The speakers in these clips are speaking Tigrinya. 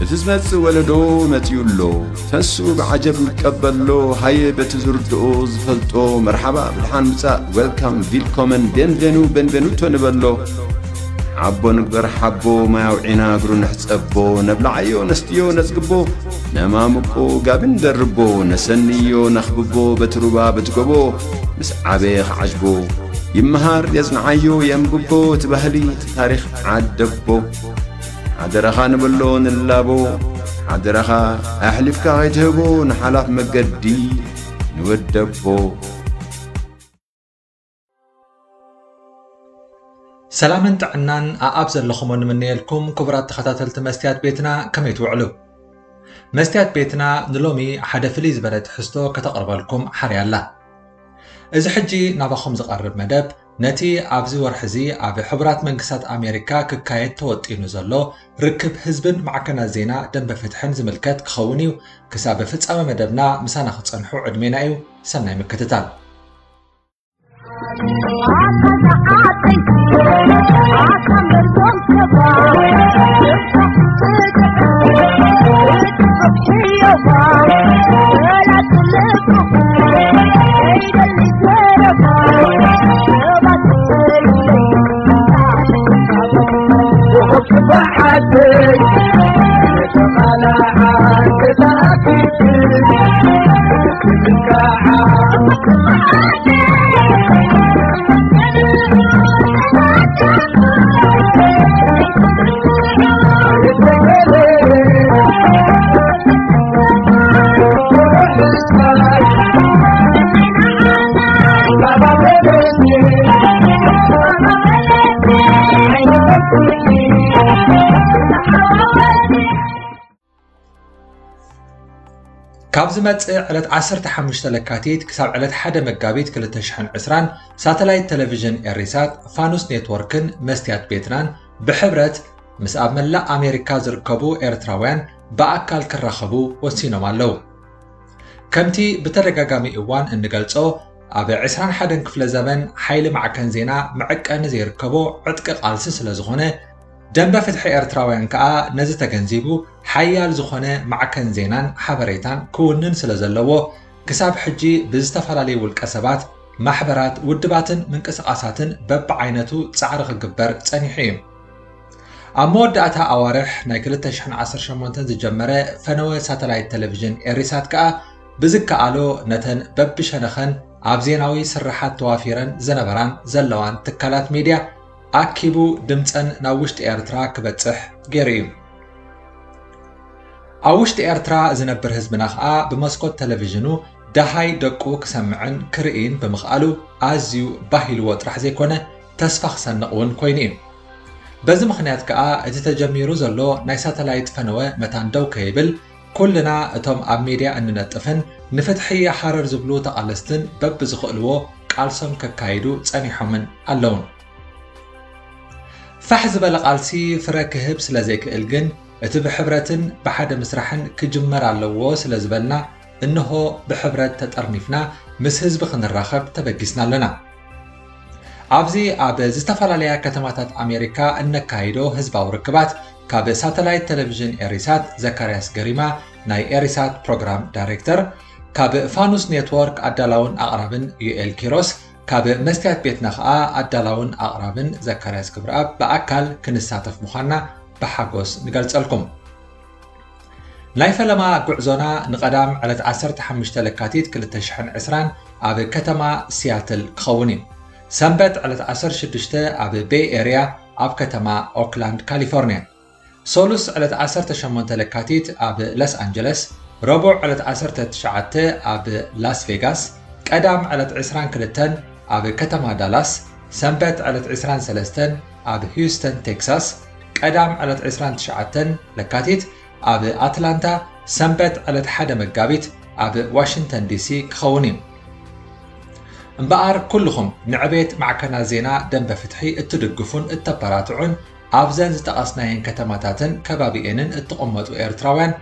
እቲ ዝመጽእ ወለዶ መጺኡ ኣሎ። ተሱ ብዓጀብ ይቀበሎ። ሃየ በቲ ዝርድኦ ዝፈልጦ መርሓባ ብድሓን ምጻእ፣ ዌልካም፣ ቪልኮመን፣ ቤንቬኑ፣ ቤንቬኑቶ ንበሎ። ሓቦ ንግበር ሓቦ፣ ማይ ኣውዒና እግሩ ንሕጸቦ። ነብልዓዮ ነስትዮ ነጽግቦ፣ ነማምቆ ጋቢ ንደርቦ። ነሰንዮ ነኽብቦ በቲ ሩባ በቲ ጎቦ፣ ምስ ዓበየ ክዓጅቦ። ይመሃር የጽንዓዮ የንብቦ፣ እቲ ባህሊ እቲ ታሪኽ ዓደቦ። ሓደራኻ ንብሎ ንላቦ፣ ሓደራኻ ኣሕሊፍካ ከይትህቦ ንሓላፍ መገዲ ንወደቦ። ሰላምን ጥዕናን ኣኣብ ዘለኹሞ ንምነየልኩም ክቡራት ተኸታተልቲ መስትያት ቤትና፣ ከመይ ትውዕሉ? መስትያት ቤትና ንሎሚ ሓደ ፍልይ ዝበለ ትሕዝቶ ከተቕርበልኩም ሓርያ ኣላ። እዚ ሕጂ ናባኹም ዝቐርብ መደብ ነቲ ኣብዚ ወርሒ እዚ ኣብ ሕቡራት መንግስታት ኣሜሪካ ክካየድ ተወጢኑ ዘሎ ርክብ ህዝብን ማዕከናት ዜና ደንበ ፍትሕን ዝምልከት ክኸውን እዩ። ክሳብ ፍጻመ መደብና ምሳና ክትጸንሑ ዕድሜና እዩ። ሰናይ ምክትታል። ካብ ዝመጽእ ዕለት ዓሰርተ ሓሙሽተ ለካቲት ክሳብ ዕለት ሓደ መጋቢት ክልተ ሽሕን ዕስራን ሳተላይት ቴሌቪዥን ኤሪሳት ፋኑስ ኔትወርክን መስትያት ቤትናን ብሕብረት ምስ ኣብ መላእ ኣሜሪካ ዝርከቡ ኤርትራውያን ብኣካል ክራኸቡ ወሲኖም ኣለዉ። ከምቲ ብተደጋጋሚ እዋን እንገልጾ፣ ኣብ ዕስራን ሓደን ክፍለ ዘመን ሓይሊ ማዕከን ዜና መዐቀኒ ዘይርከቦ ዕጥቂ ቃልሲ ስለ ዝኾነ፣ ደንበ ፍትሒ ኤርትራውያን ከኣ ነዚ ተገንዚቡ ሓያል ዝኾነ ማዕከን ዜናን ሓበሬታን ክውንን ስለ ዘለዎ፣ ክሳብ ሕጂ ብዝተፈላለዩ ውልቀ ሰባት፣ ማሕበራት፣ ውድባትን ምንቅስቓሳትን በብዓይነቱ ጻዕሪ ክግበር ጸኒሑ እዩ። ኣብ መወዳእታ ኣዋርሕ ናይ ክልተ ሽሕን ዓሰርተ ሸሞንተን ዝጀመረ ፈነወ ሳተላይት ቴሌቪዥን ኤሪሳት ከኣ ብዝከኣሎ ነተን በብሸነኸን ኣብ ዜናዊ ስርሓት ተዋፊረን ዝነበራን ዘለዋን ትካላት ሚድያ ኣኪቡ ድምጸን ናብ ውሽጢ ኤርትራ ክበጽሕ ገይሩ እዩ። ኣብ ውሽጢ ኤርትራ ዝነብር ህዝብና ከኣ ብመስኮት ቴሌቪዥኑ ደሃይ ደቁ ክሰምዕን ክርእይን ብምኽኣሉ ኣዝዩ ባህ ኢልዎ ጥራሕ ዘይኮነ ተስፋ ክሰንቕ እውን ኮይኑ እዩ። በዚ ምኽንያት ከኣ እቲ ተጀሚሩ ዘሎ ናይ ሳተላይት ፈነወ መታን ደው ከይብል ኩልና እቶም ኣብ ሚድያ እንነጥፍን ንፍትሒ ሓረር ዝብሉ ተቓለስትን በብዝኽእልዎ ቃልሶም ከካይዱ ጸኒሖምን ኣለዉን። ፋሕ ዝበለ ቃልሲ ፍረ ክህብ ስለ ዘይክእል ግን፣ እቲ ብሕብረትን ብሓደ ምስራሕን ክጅመር ኣለዎ ስለ ዝበልና፣ እንሆ ብሕብረት ተጠርኒፍና ምስ ህዝቢ ክንራኸብ ተበጊስና ኣለና። ኣብዚ ኣብ ዝተፈላለያ ከተማታት ኣሜሪካ እነካይዶ ህዝባዊ ርክባት፣ ካብ ሳተላይት ቴሌቪዥን ኤሪሳት ዘካርያስ ገሪማ ናይ ኤሪሳት ፕሮግራም ዳይሬክተር፣ ካብ ፋኑስ ኔትወርክ ኣዳላውን ኣቕራብን ዩኤል ኪሮስ፣ ካብ መስትያት ቤትና ኸኣ ኣዳላውን ኣቕራብን ዘካርያስ ክብረኣብ ብኣካል ክንሳተፍ ምዃንና ብሓጎስ ንገልጸልኩም። ናይ ፈለማ ጉዕዞና ንቐዳም ዕለት ዓሰርተ ሓሙሽተ ለካቲት ክልተ ሽሕን ዕስራን ኣብ ከተማ ሲያትል ክኸውን እዩ። ሰንበት ዕለት ዓሰርተ ሽዱሽተ ኣብ ቤይ ኤርያ ኣብ ከተማ ኦክላንድ ካሊፎርንያ። ሶሉስ ዕለት ዓሰርተ ሸሞንተ ለካቲት ኣብ ሎስ ኣንጀለስ፣ ረቡዕ ዕለት ዓሰርተ ትሽዓተ ኣብ ላስ ቬጋስ፣ ቀዳም ዕለት ዕስራን ክልተን ኣብ ከተማ ዳላስ፣ ሰንበት ዕለት ዕስራን ሰለስተን ኣብ ሂውስተን ቴክሳስ፣ ቀዳም ዕለት ዕስራን ትሽዓተን ለካቲት ኣብ ኣትላንታ፣ ሰንበት ዕለት ሓደ መጋቢት ኣብ ዋሽንግተን ዲሲ ክኸውን እዩ። እምበኣር ኩልኹም ንዕቤት ማዕከናት ዜና ደንበ ፍትሒ እትድግፉን እተበራትዑን ኣብዘን ዝጠቐስናየን ከተማታትን ከባቢኤንን እትቕመጡ ኤርትራውያን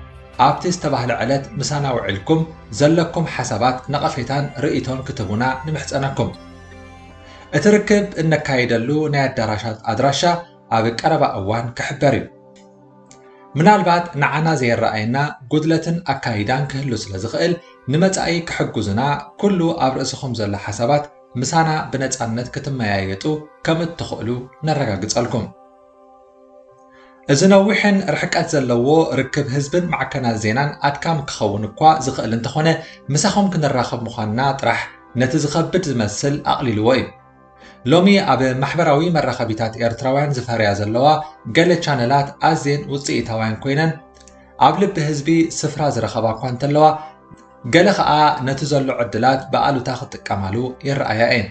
ኣብቲ ዝተባህለ ዕለት ምሳና ውዒልኩም ዘለኩም ሓሳባት ነቐፌታን ርእይቶን ክትቡና ንምሕጸነኩም። እቲ ርክብ እነካይደሉ ናይ ኣዳራሻት ኣድራሻ ኣብ ቀረባ እዋን ክሕበር እዩ። ምናልባት ንዓና ዘይረኣየና ጉድለትን ኣካይዳን ክህሉ ስለ ዝኽእል፣ ንመጻኢ ክሕግዙና ኩሉ ኣብ ርእስኹም ዘሎ ሓሳባት ምሳና ብነጻነት ክትመያየጡ ከም እትኽእሉ ነረጋግጸልኩም። እዚ ነዊሕን ርሕቀት ዘለዎ ርክብ ህዝብን ማዕከናት ዜናን ኣድካሚ ክኸውን እኳ ዝኽእል እንተኾነ፣ ምሳኹም ክንራኸብ ምዃንና ጥራሕ ነቲ ዝኸብድ ዝመስል ኣቕሊልዎ እዩ። ሎሚ ኣብ ማሕበራዊ መራኸቢታት ኤርትራውያን ዝፈርያ ዘለዋ ገለ ቻነላት ኣዝየን ውጽኢታውያን ኮይነን ኣብ ልቢ ህዝቢ ስፍራ ዝረኸባ እኳ እንተለዋ፣ ገለ ኸኣ ነቲ ዘሎ ዕድላት ብኣሉታ ክጥቀማሉ ይረኣያ እየን።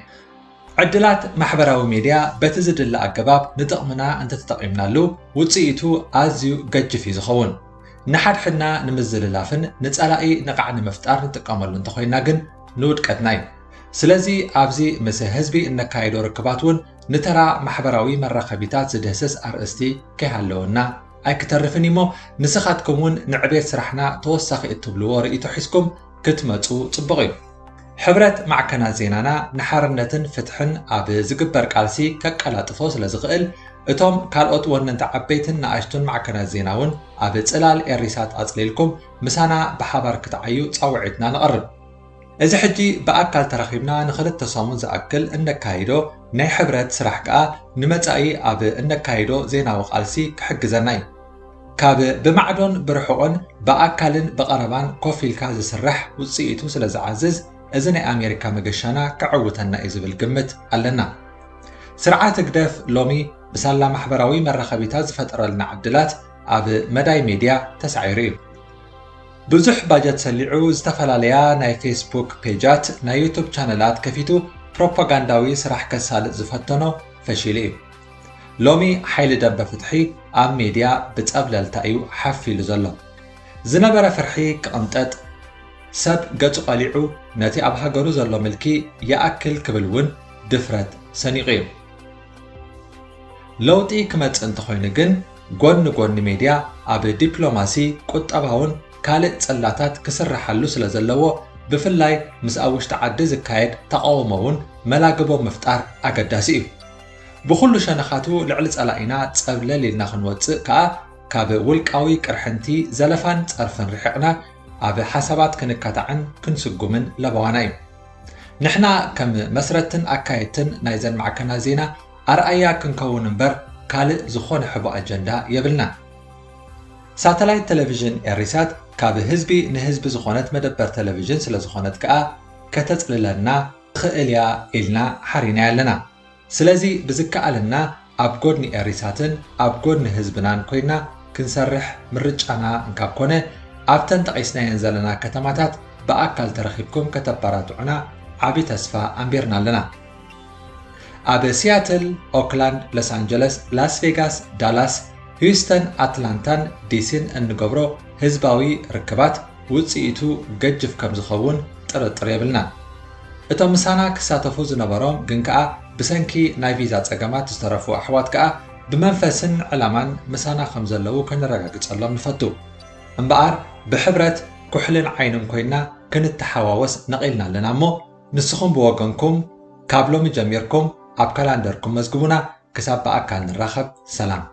ዕድላት ማሕበራዊ ሜድያ በቲ ዝድለ ኣገባብ ንጥቕምና እንተተጠቒምናሉ፣ ውጽኢቱ ኣዝዩ ገጅፍ እዩ ዝኸውን። ንሓድሕድና ንምዝልላፍን ንጸላኢ ንቓዕ ንምፍጣር ንጥቀመሉ እንተኾይና ግን ንውድቀትና እዩ። ስለዚ ኣብዚ ምስ ህዝቢ እነካይዶ ርክባት እውን ንተራ ማሕበራዊ መራኸቢታት ዝድህስስ ኣርእስቲ ከይሃለወና ኣይክተርፍን እሞ፣ ንስኻትኩም እውን ንዕቤት ስራሕና ተወሳኺ እትብልዎ ርእይቶ ሒዝኩም ክትመጹ ጽቡቕ እዩ። ሕብረት ማዕከናት ዜናና ንሓርነትን ፍትሕን ኣብ ዝግበር ቃልሲ ከቀላጥፎ ስለ ዝኽእል፣ እቶም ካልኦት ወነንቲ ዓበይትን ንኣሽቱን ማዕከናት ዜና እውን ኣብ ጽላል ኤሪሳት ኣጽሊልኩም ምሳና ብሓባር ክትዓዩ ጻውዒትና ነቕርብ። እዚ ሕጂ ብኣካል ተራኺብና ንኽልተ ሰሙን ዝኣክል እነካይዶ ናይ ሕብረት ስራሕ ከኣ ንመጻኢ ኣብ እነካይዶ ዜናዊ ቃልሲ ክሕግዘና እዩ። ካብ ብማዕዶን ብርሑቕን ብኣካልን ብቐረባን ኮፍ ኢልካ ዝስራሕ ውጽኢቱ ስለ ዝዓዝዝ፣ እዚ ናይ ኣሜሪካ መገሻና ከዕውተና እዩ ዝብል ግምት ኣለና። ስርዓት ህግደፍ ሎሚ ብሳላ ማሕበራዊ መራኸቢታት ዝፈጠረልና ዕድላት ኣብ መዳይ ሜድያ ተሳዒሩ እዩ። ብዙሕ ባጀት ሰሊዑ ዝተፈላለያ ናይ ፌስቡክ ፔጃት፣ ናይ ዩቱብ ቻነላት ከፊቱ ፕሮፓጋንዳዊ ስራሕ ከሳልጥ ዝፈተኖ ፈሺሉ እዩ። ሎሚ ሓይሊ ደንበ ፍትሒ ኣብ ሜድያ ብጸብለልታ እዩ ሓፍ ኢሉ ዘሎ። ዝነበረ ፍርሒ ክቕንጠጥ፣ ሰብ ገጹ ቀሊዑ ነቲ ኣብ ሃገሩ ዘሎ ምልኪ ይኣክል ክብል እውን ድፍረት ሰኒቑ እዩ። ለውጢ ክመጽእ እንተኾይኑ ግን፣ ጎኒ ጎኒ ሜድያ ኣብ ዲፕሎማሲ፣ ቁጠባውን ካልእ ጽላታት ክስርሓሉ ስለ ዘለዎ፣ ብፍላይ ምስ ኣብ ውሽጢ ዓዲ ዝካየድ ተቓውሞ እውን መላግቦ ምፍጣር ኣገዳሲ እዩ። ብኹሉ ሸነኻቱ ልዕሊ ጸላኢና ጸብለል ኢልና ክንወጽእ ከኣ፣ ካብ ውልቃዊ ቅርሕንቲ፣ ዘለፋን ጸርፍን ርሒቕና፣ ኣብ ሓሳባት ክንካታዕን ክንስጉምን ለበዋና እዩ። ንሕና ከም መስረትን ኣካየድትን ናይዘን ማዕከናት ዜና ኣርኣያ ክንከውን እምበር፣ ካልእ ዝኾነ ሕቡእ ኣጀንዳ የብልናን። ሳተላይት ቴሌቪዥን ኤሪሳት ካብ ህዝቢ ንህዝቢ ዝኾነት መደበር ቴሌቪዥን ስለ ዝኾነት ከኣ፣ ከተጽልለና ትኽእል እያ ኢልና ሓሪናያ ኣለና። ስለዚ ብዝከኣለና ኣብ ጎድኒ ኤሪሳትን ኣብ ጎድኒ ህዝብናን ኮይና ክንሰርሕ ምርጫና እንካብ ኮነ፣ ኣብተን ጠቒስናየን ዘለና ከተማታት ብኣካል ተረኺብኩም ከተበራትዑና ዓቢ ተስፋ ኣንቢርና ኣለና። ኣብ ሲያትል፣ ኦክላንድ፣ ሎስ ኣንጀለስ፣ ላስ ቬጋስ፣ ዳላስ፣ ሂውስተን፣ ኣትላንታን ዲሲን እንገብሮ ህዝባዊ ርክባት ውጽኢቱ ገጅፍ ከም ዝኸውን ጥርጥር የብልናን። እቶም ምሳና ክሳተፉ ዝነበሮም ግን ከኣ ብሰንኪ ናይ ቪዛ ጸገማት ዝተረፉ ኣሕዋት ከኣ ብመንፈስን ዕላማን ምሳና ከም ዘለዉ ከነረጋግጸሎም ንፈቱ። እምበኣር ብሕብረት ኩሕልን ዓይንን ኮይና ክንተሓዋወስ ነቒልና ኣለና እሞ፣ ንስኹም ብወገንኩም ካብ ሎሚ ጀሚርኩም ኣብ ካላንደርኩም መዝግቡና። ክሳብ ብኣካል ንራኸብ፣ ሰላም።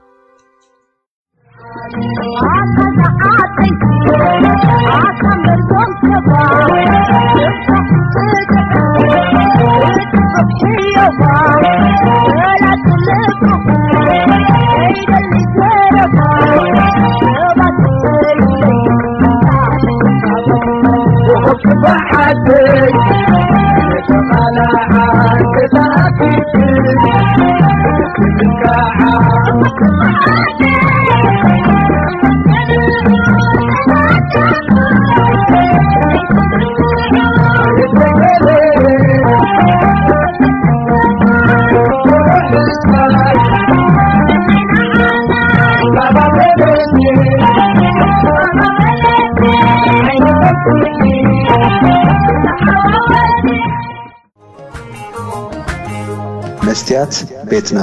መስትያት ቤትና።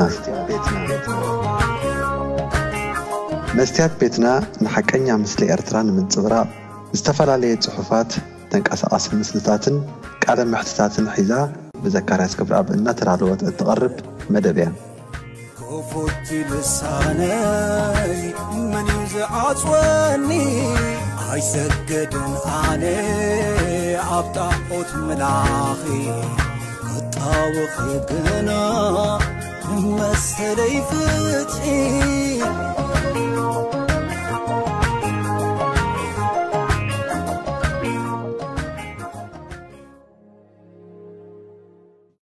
መስትያት ቤትና ንሓቀኛ ምስሊ ኤርትራ ንምንጽብራቕ ዝተፈላለየ ጽሑፋት፣ ተንቀሳቓሲ ምስልታትን ቃለ መሕትታትን ሒዛ ብዘካርያስ ገብረኣብ እናተዳለወት እትቐርብ መደብ እያ። ክፉት ልሳነይ መን እዩ ዓጽወኒ ኣይሰግድን ኣነ ኣብ ጣዖት ምላኺ ክጣወኺ ግና መሰለይ ፍትሒ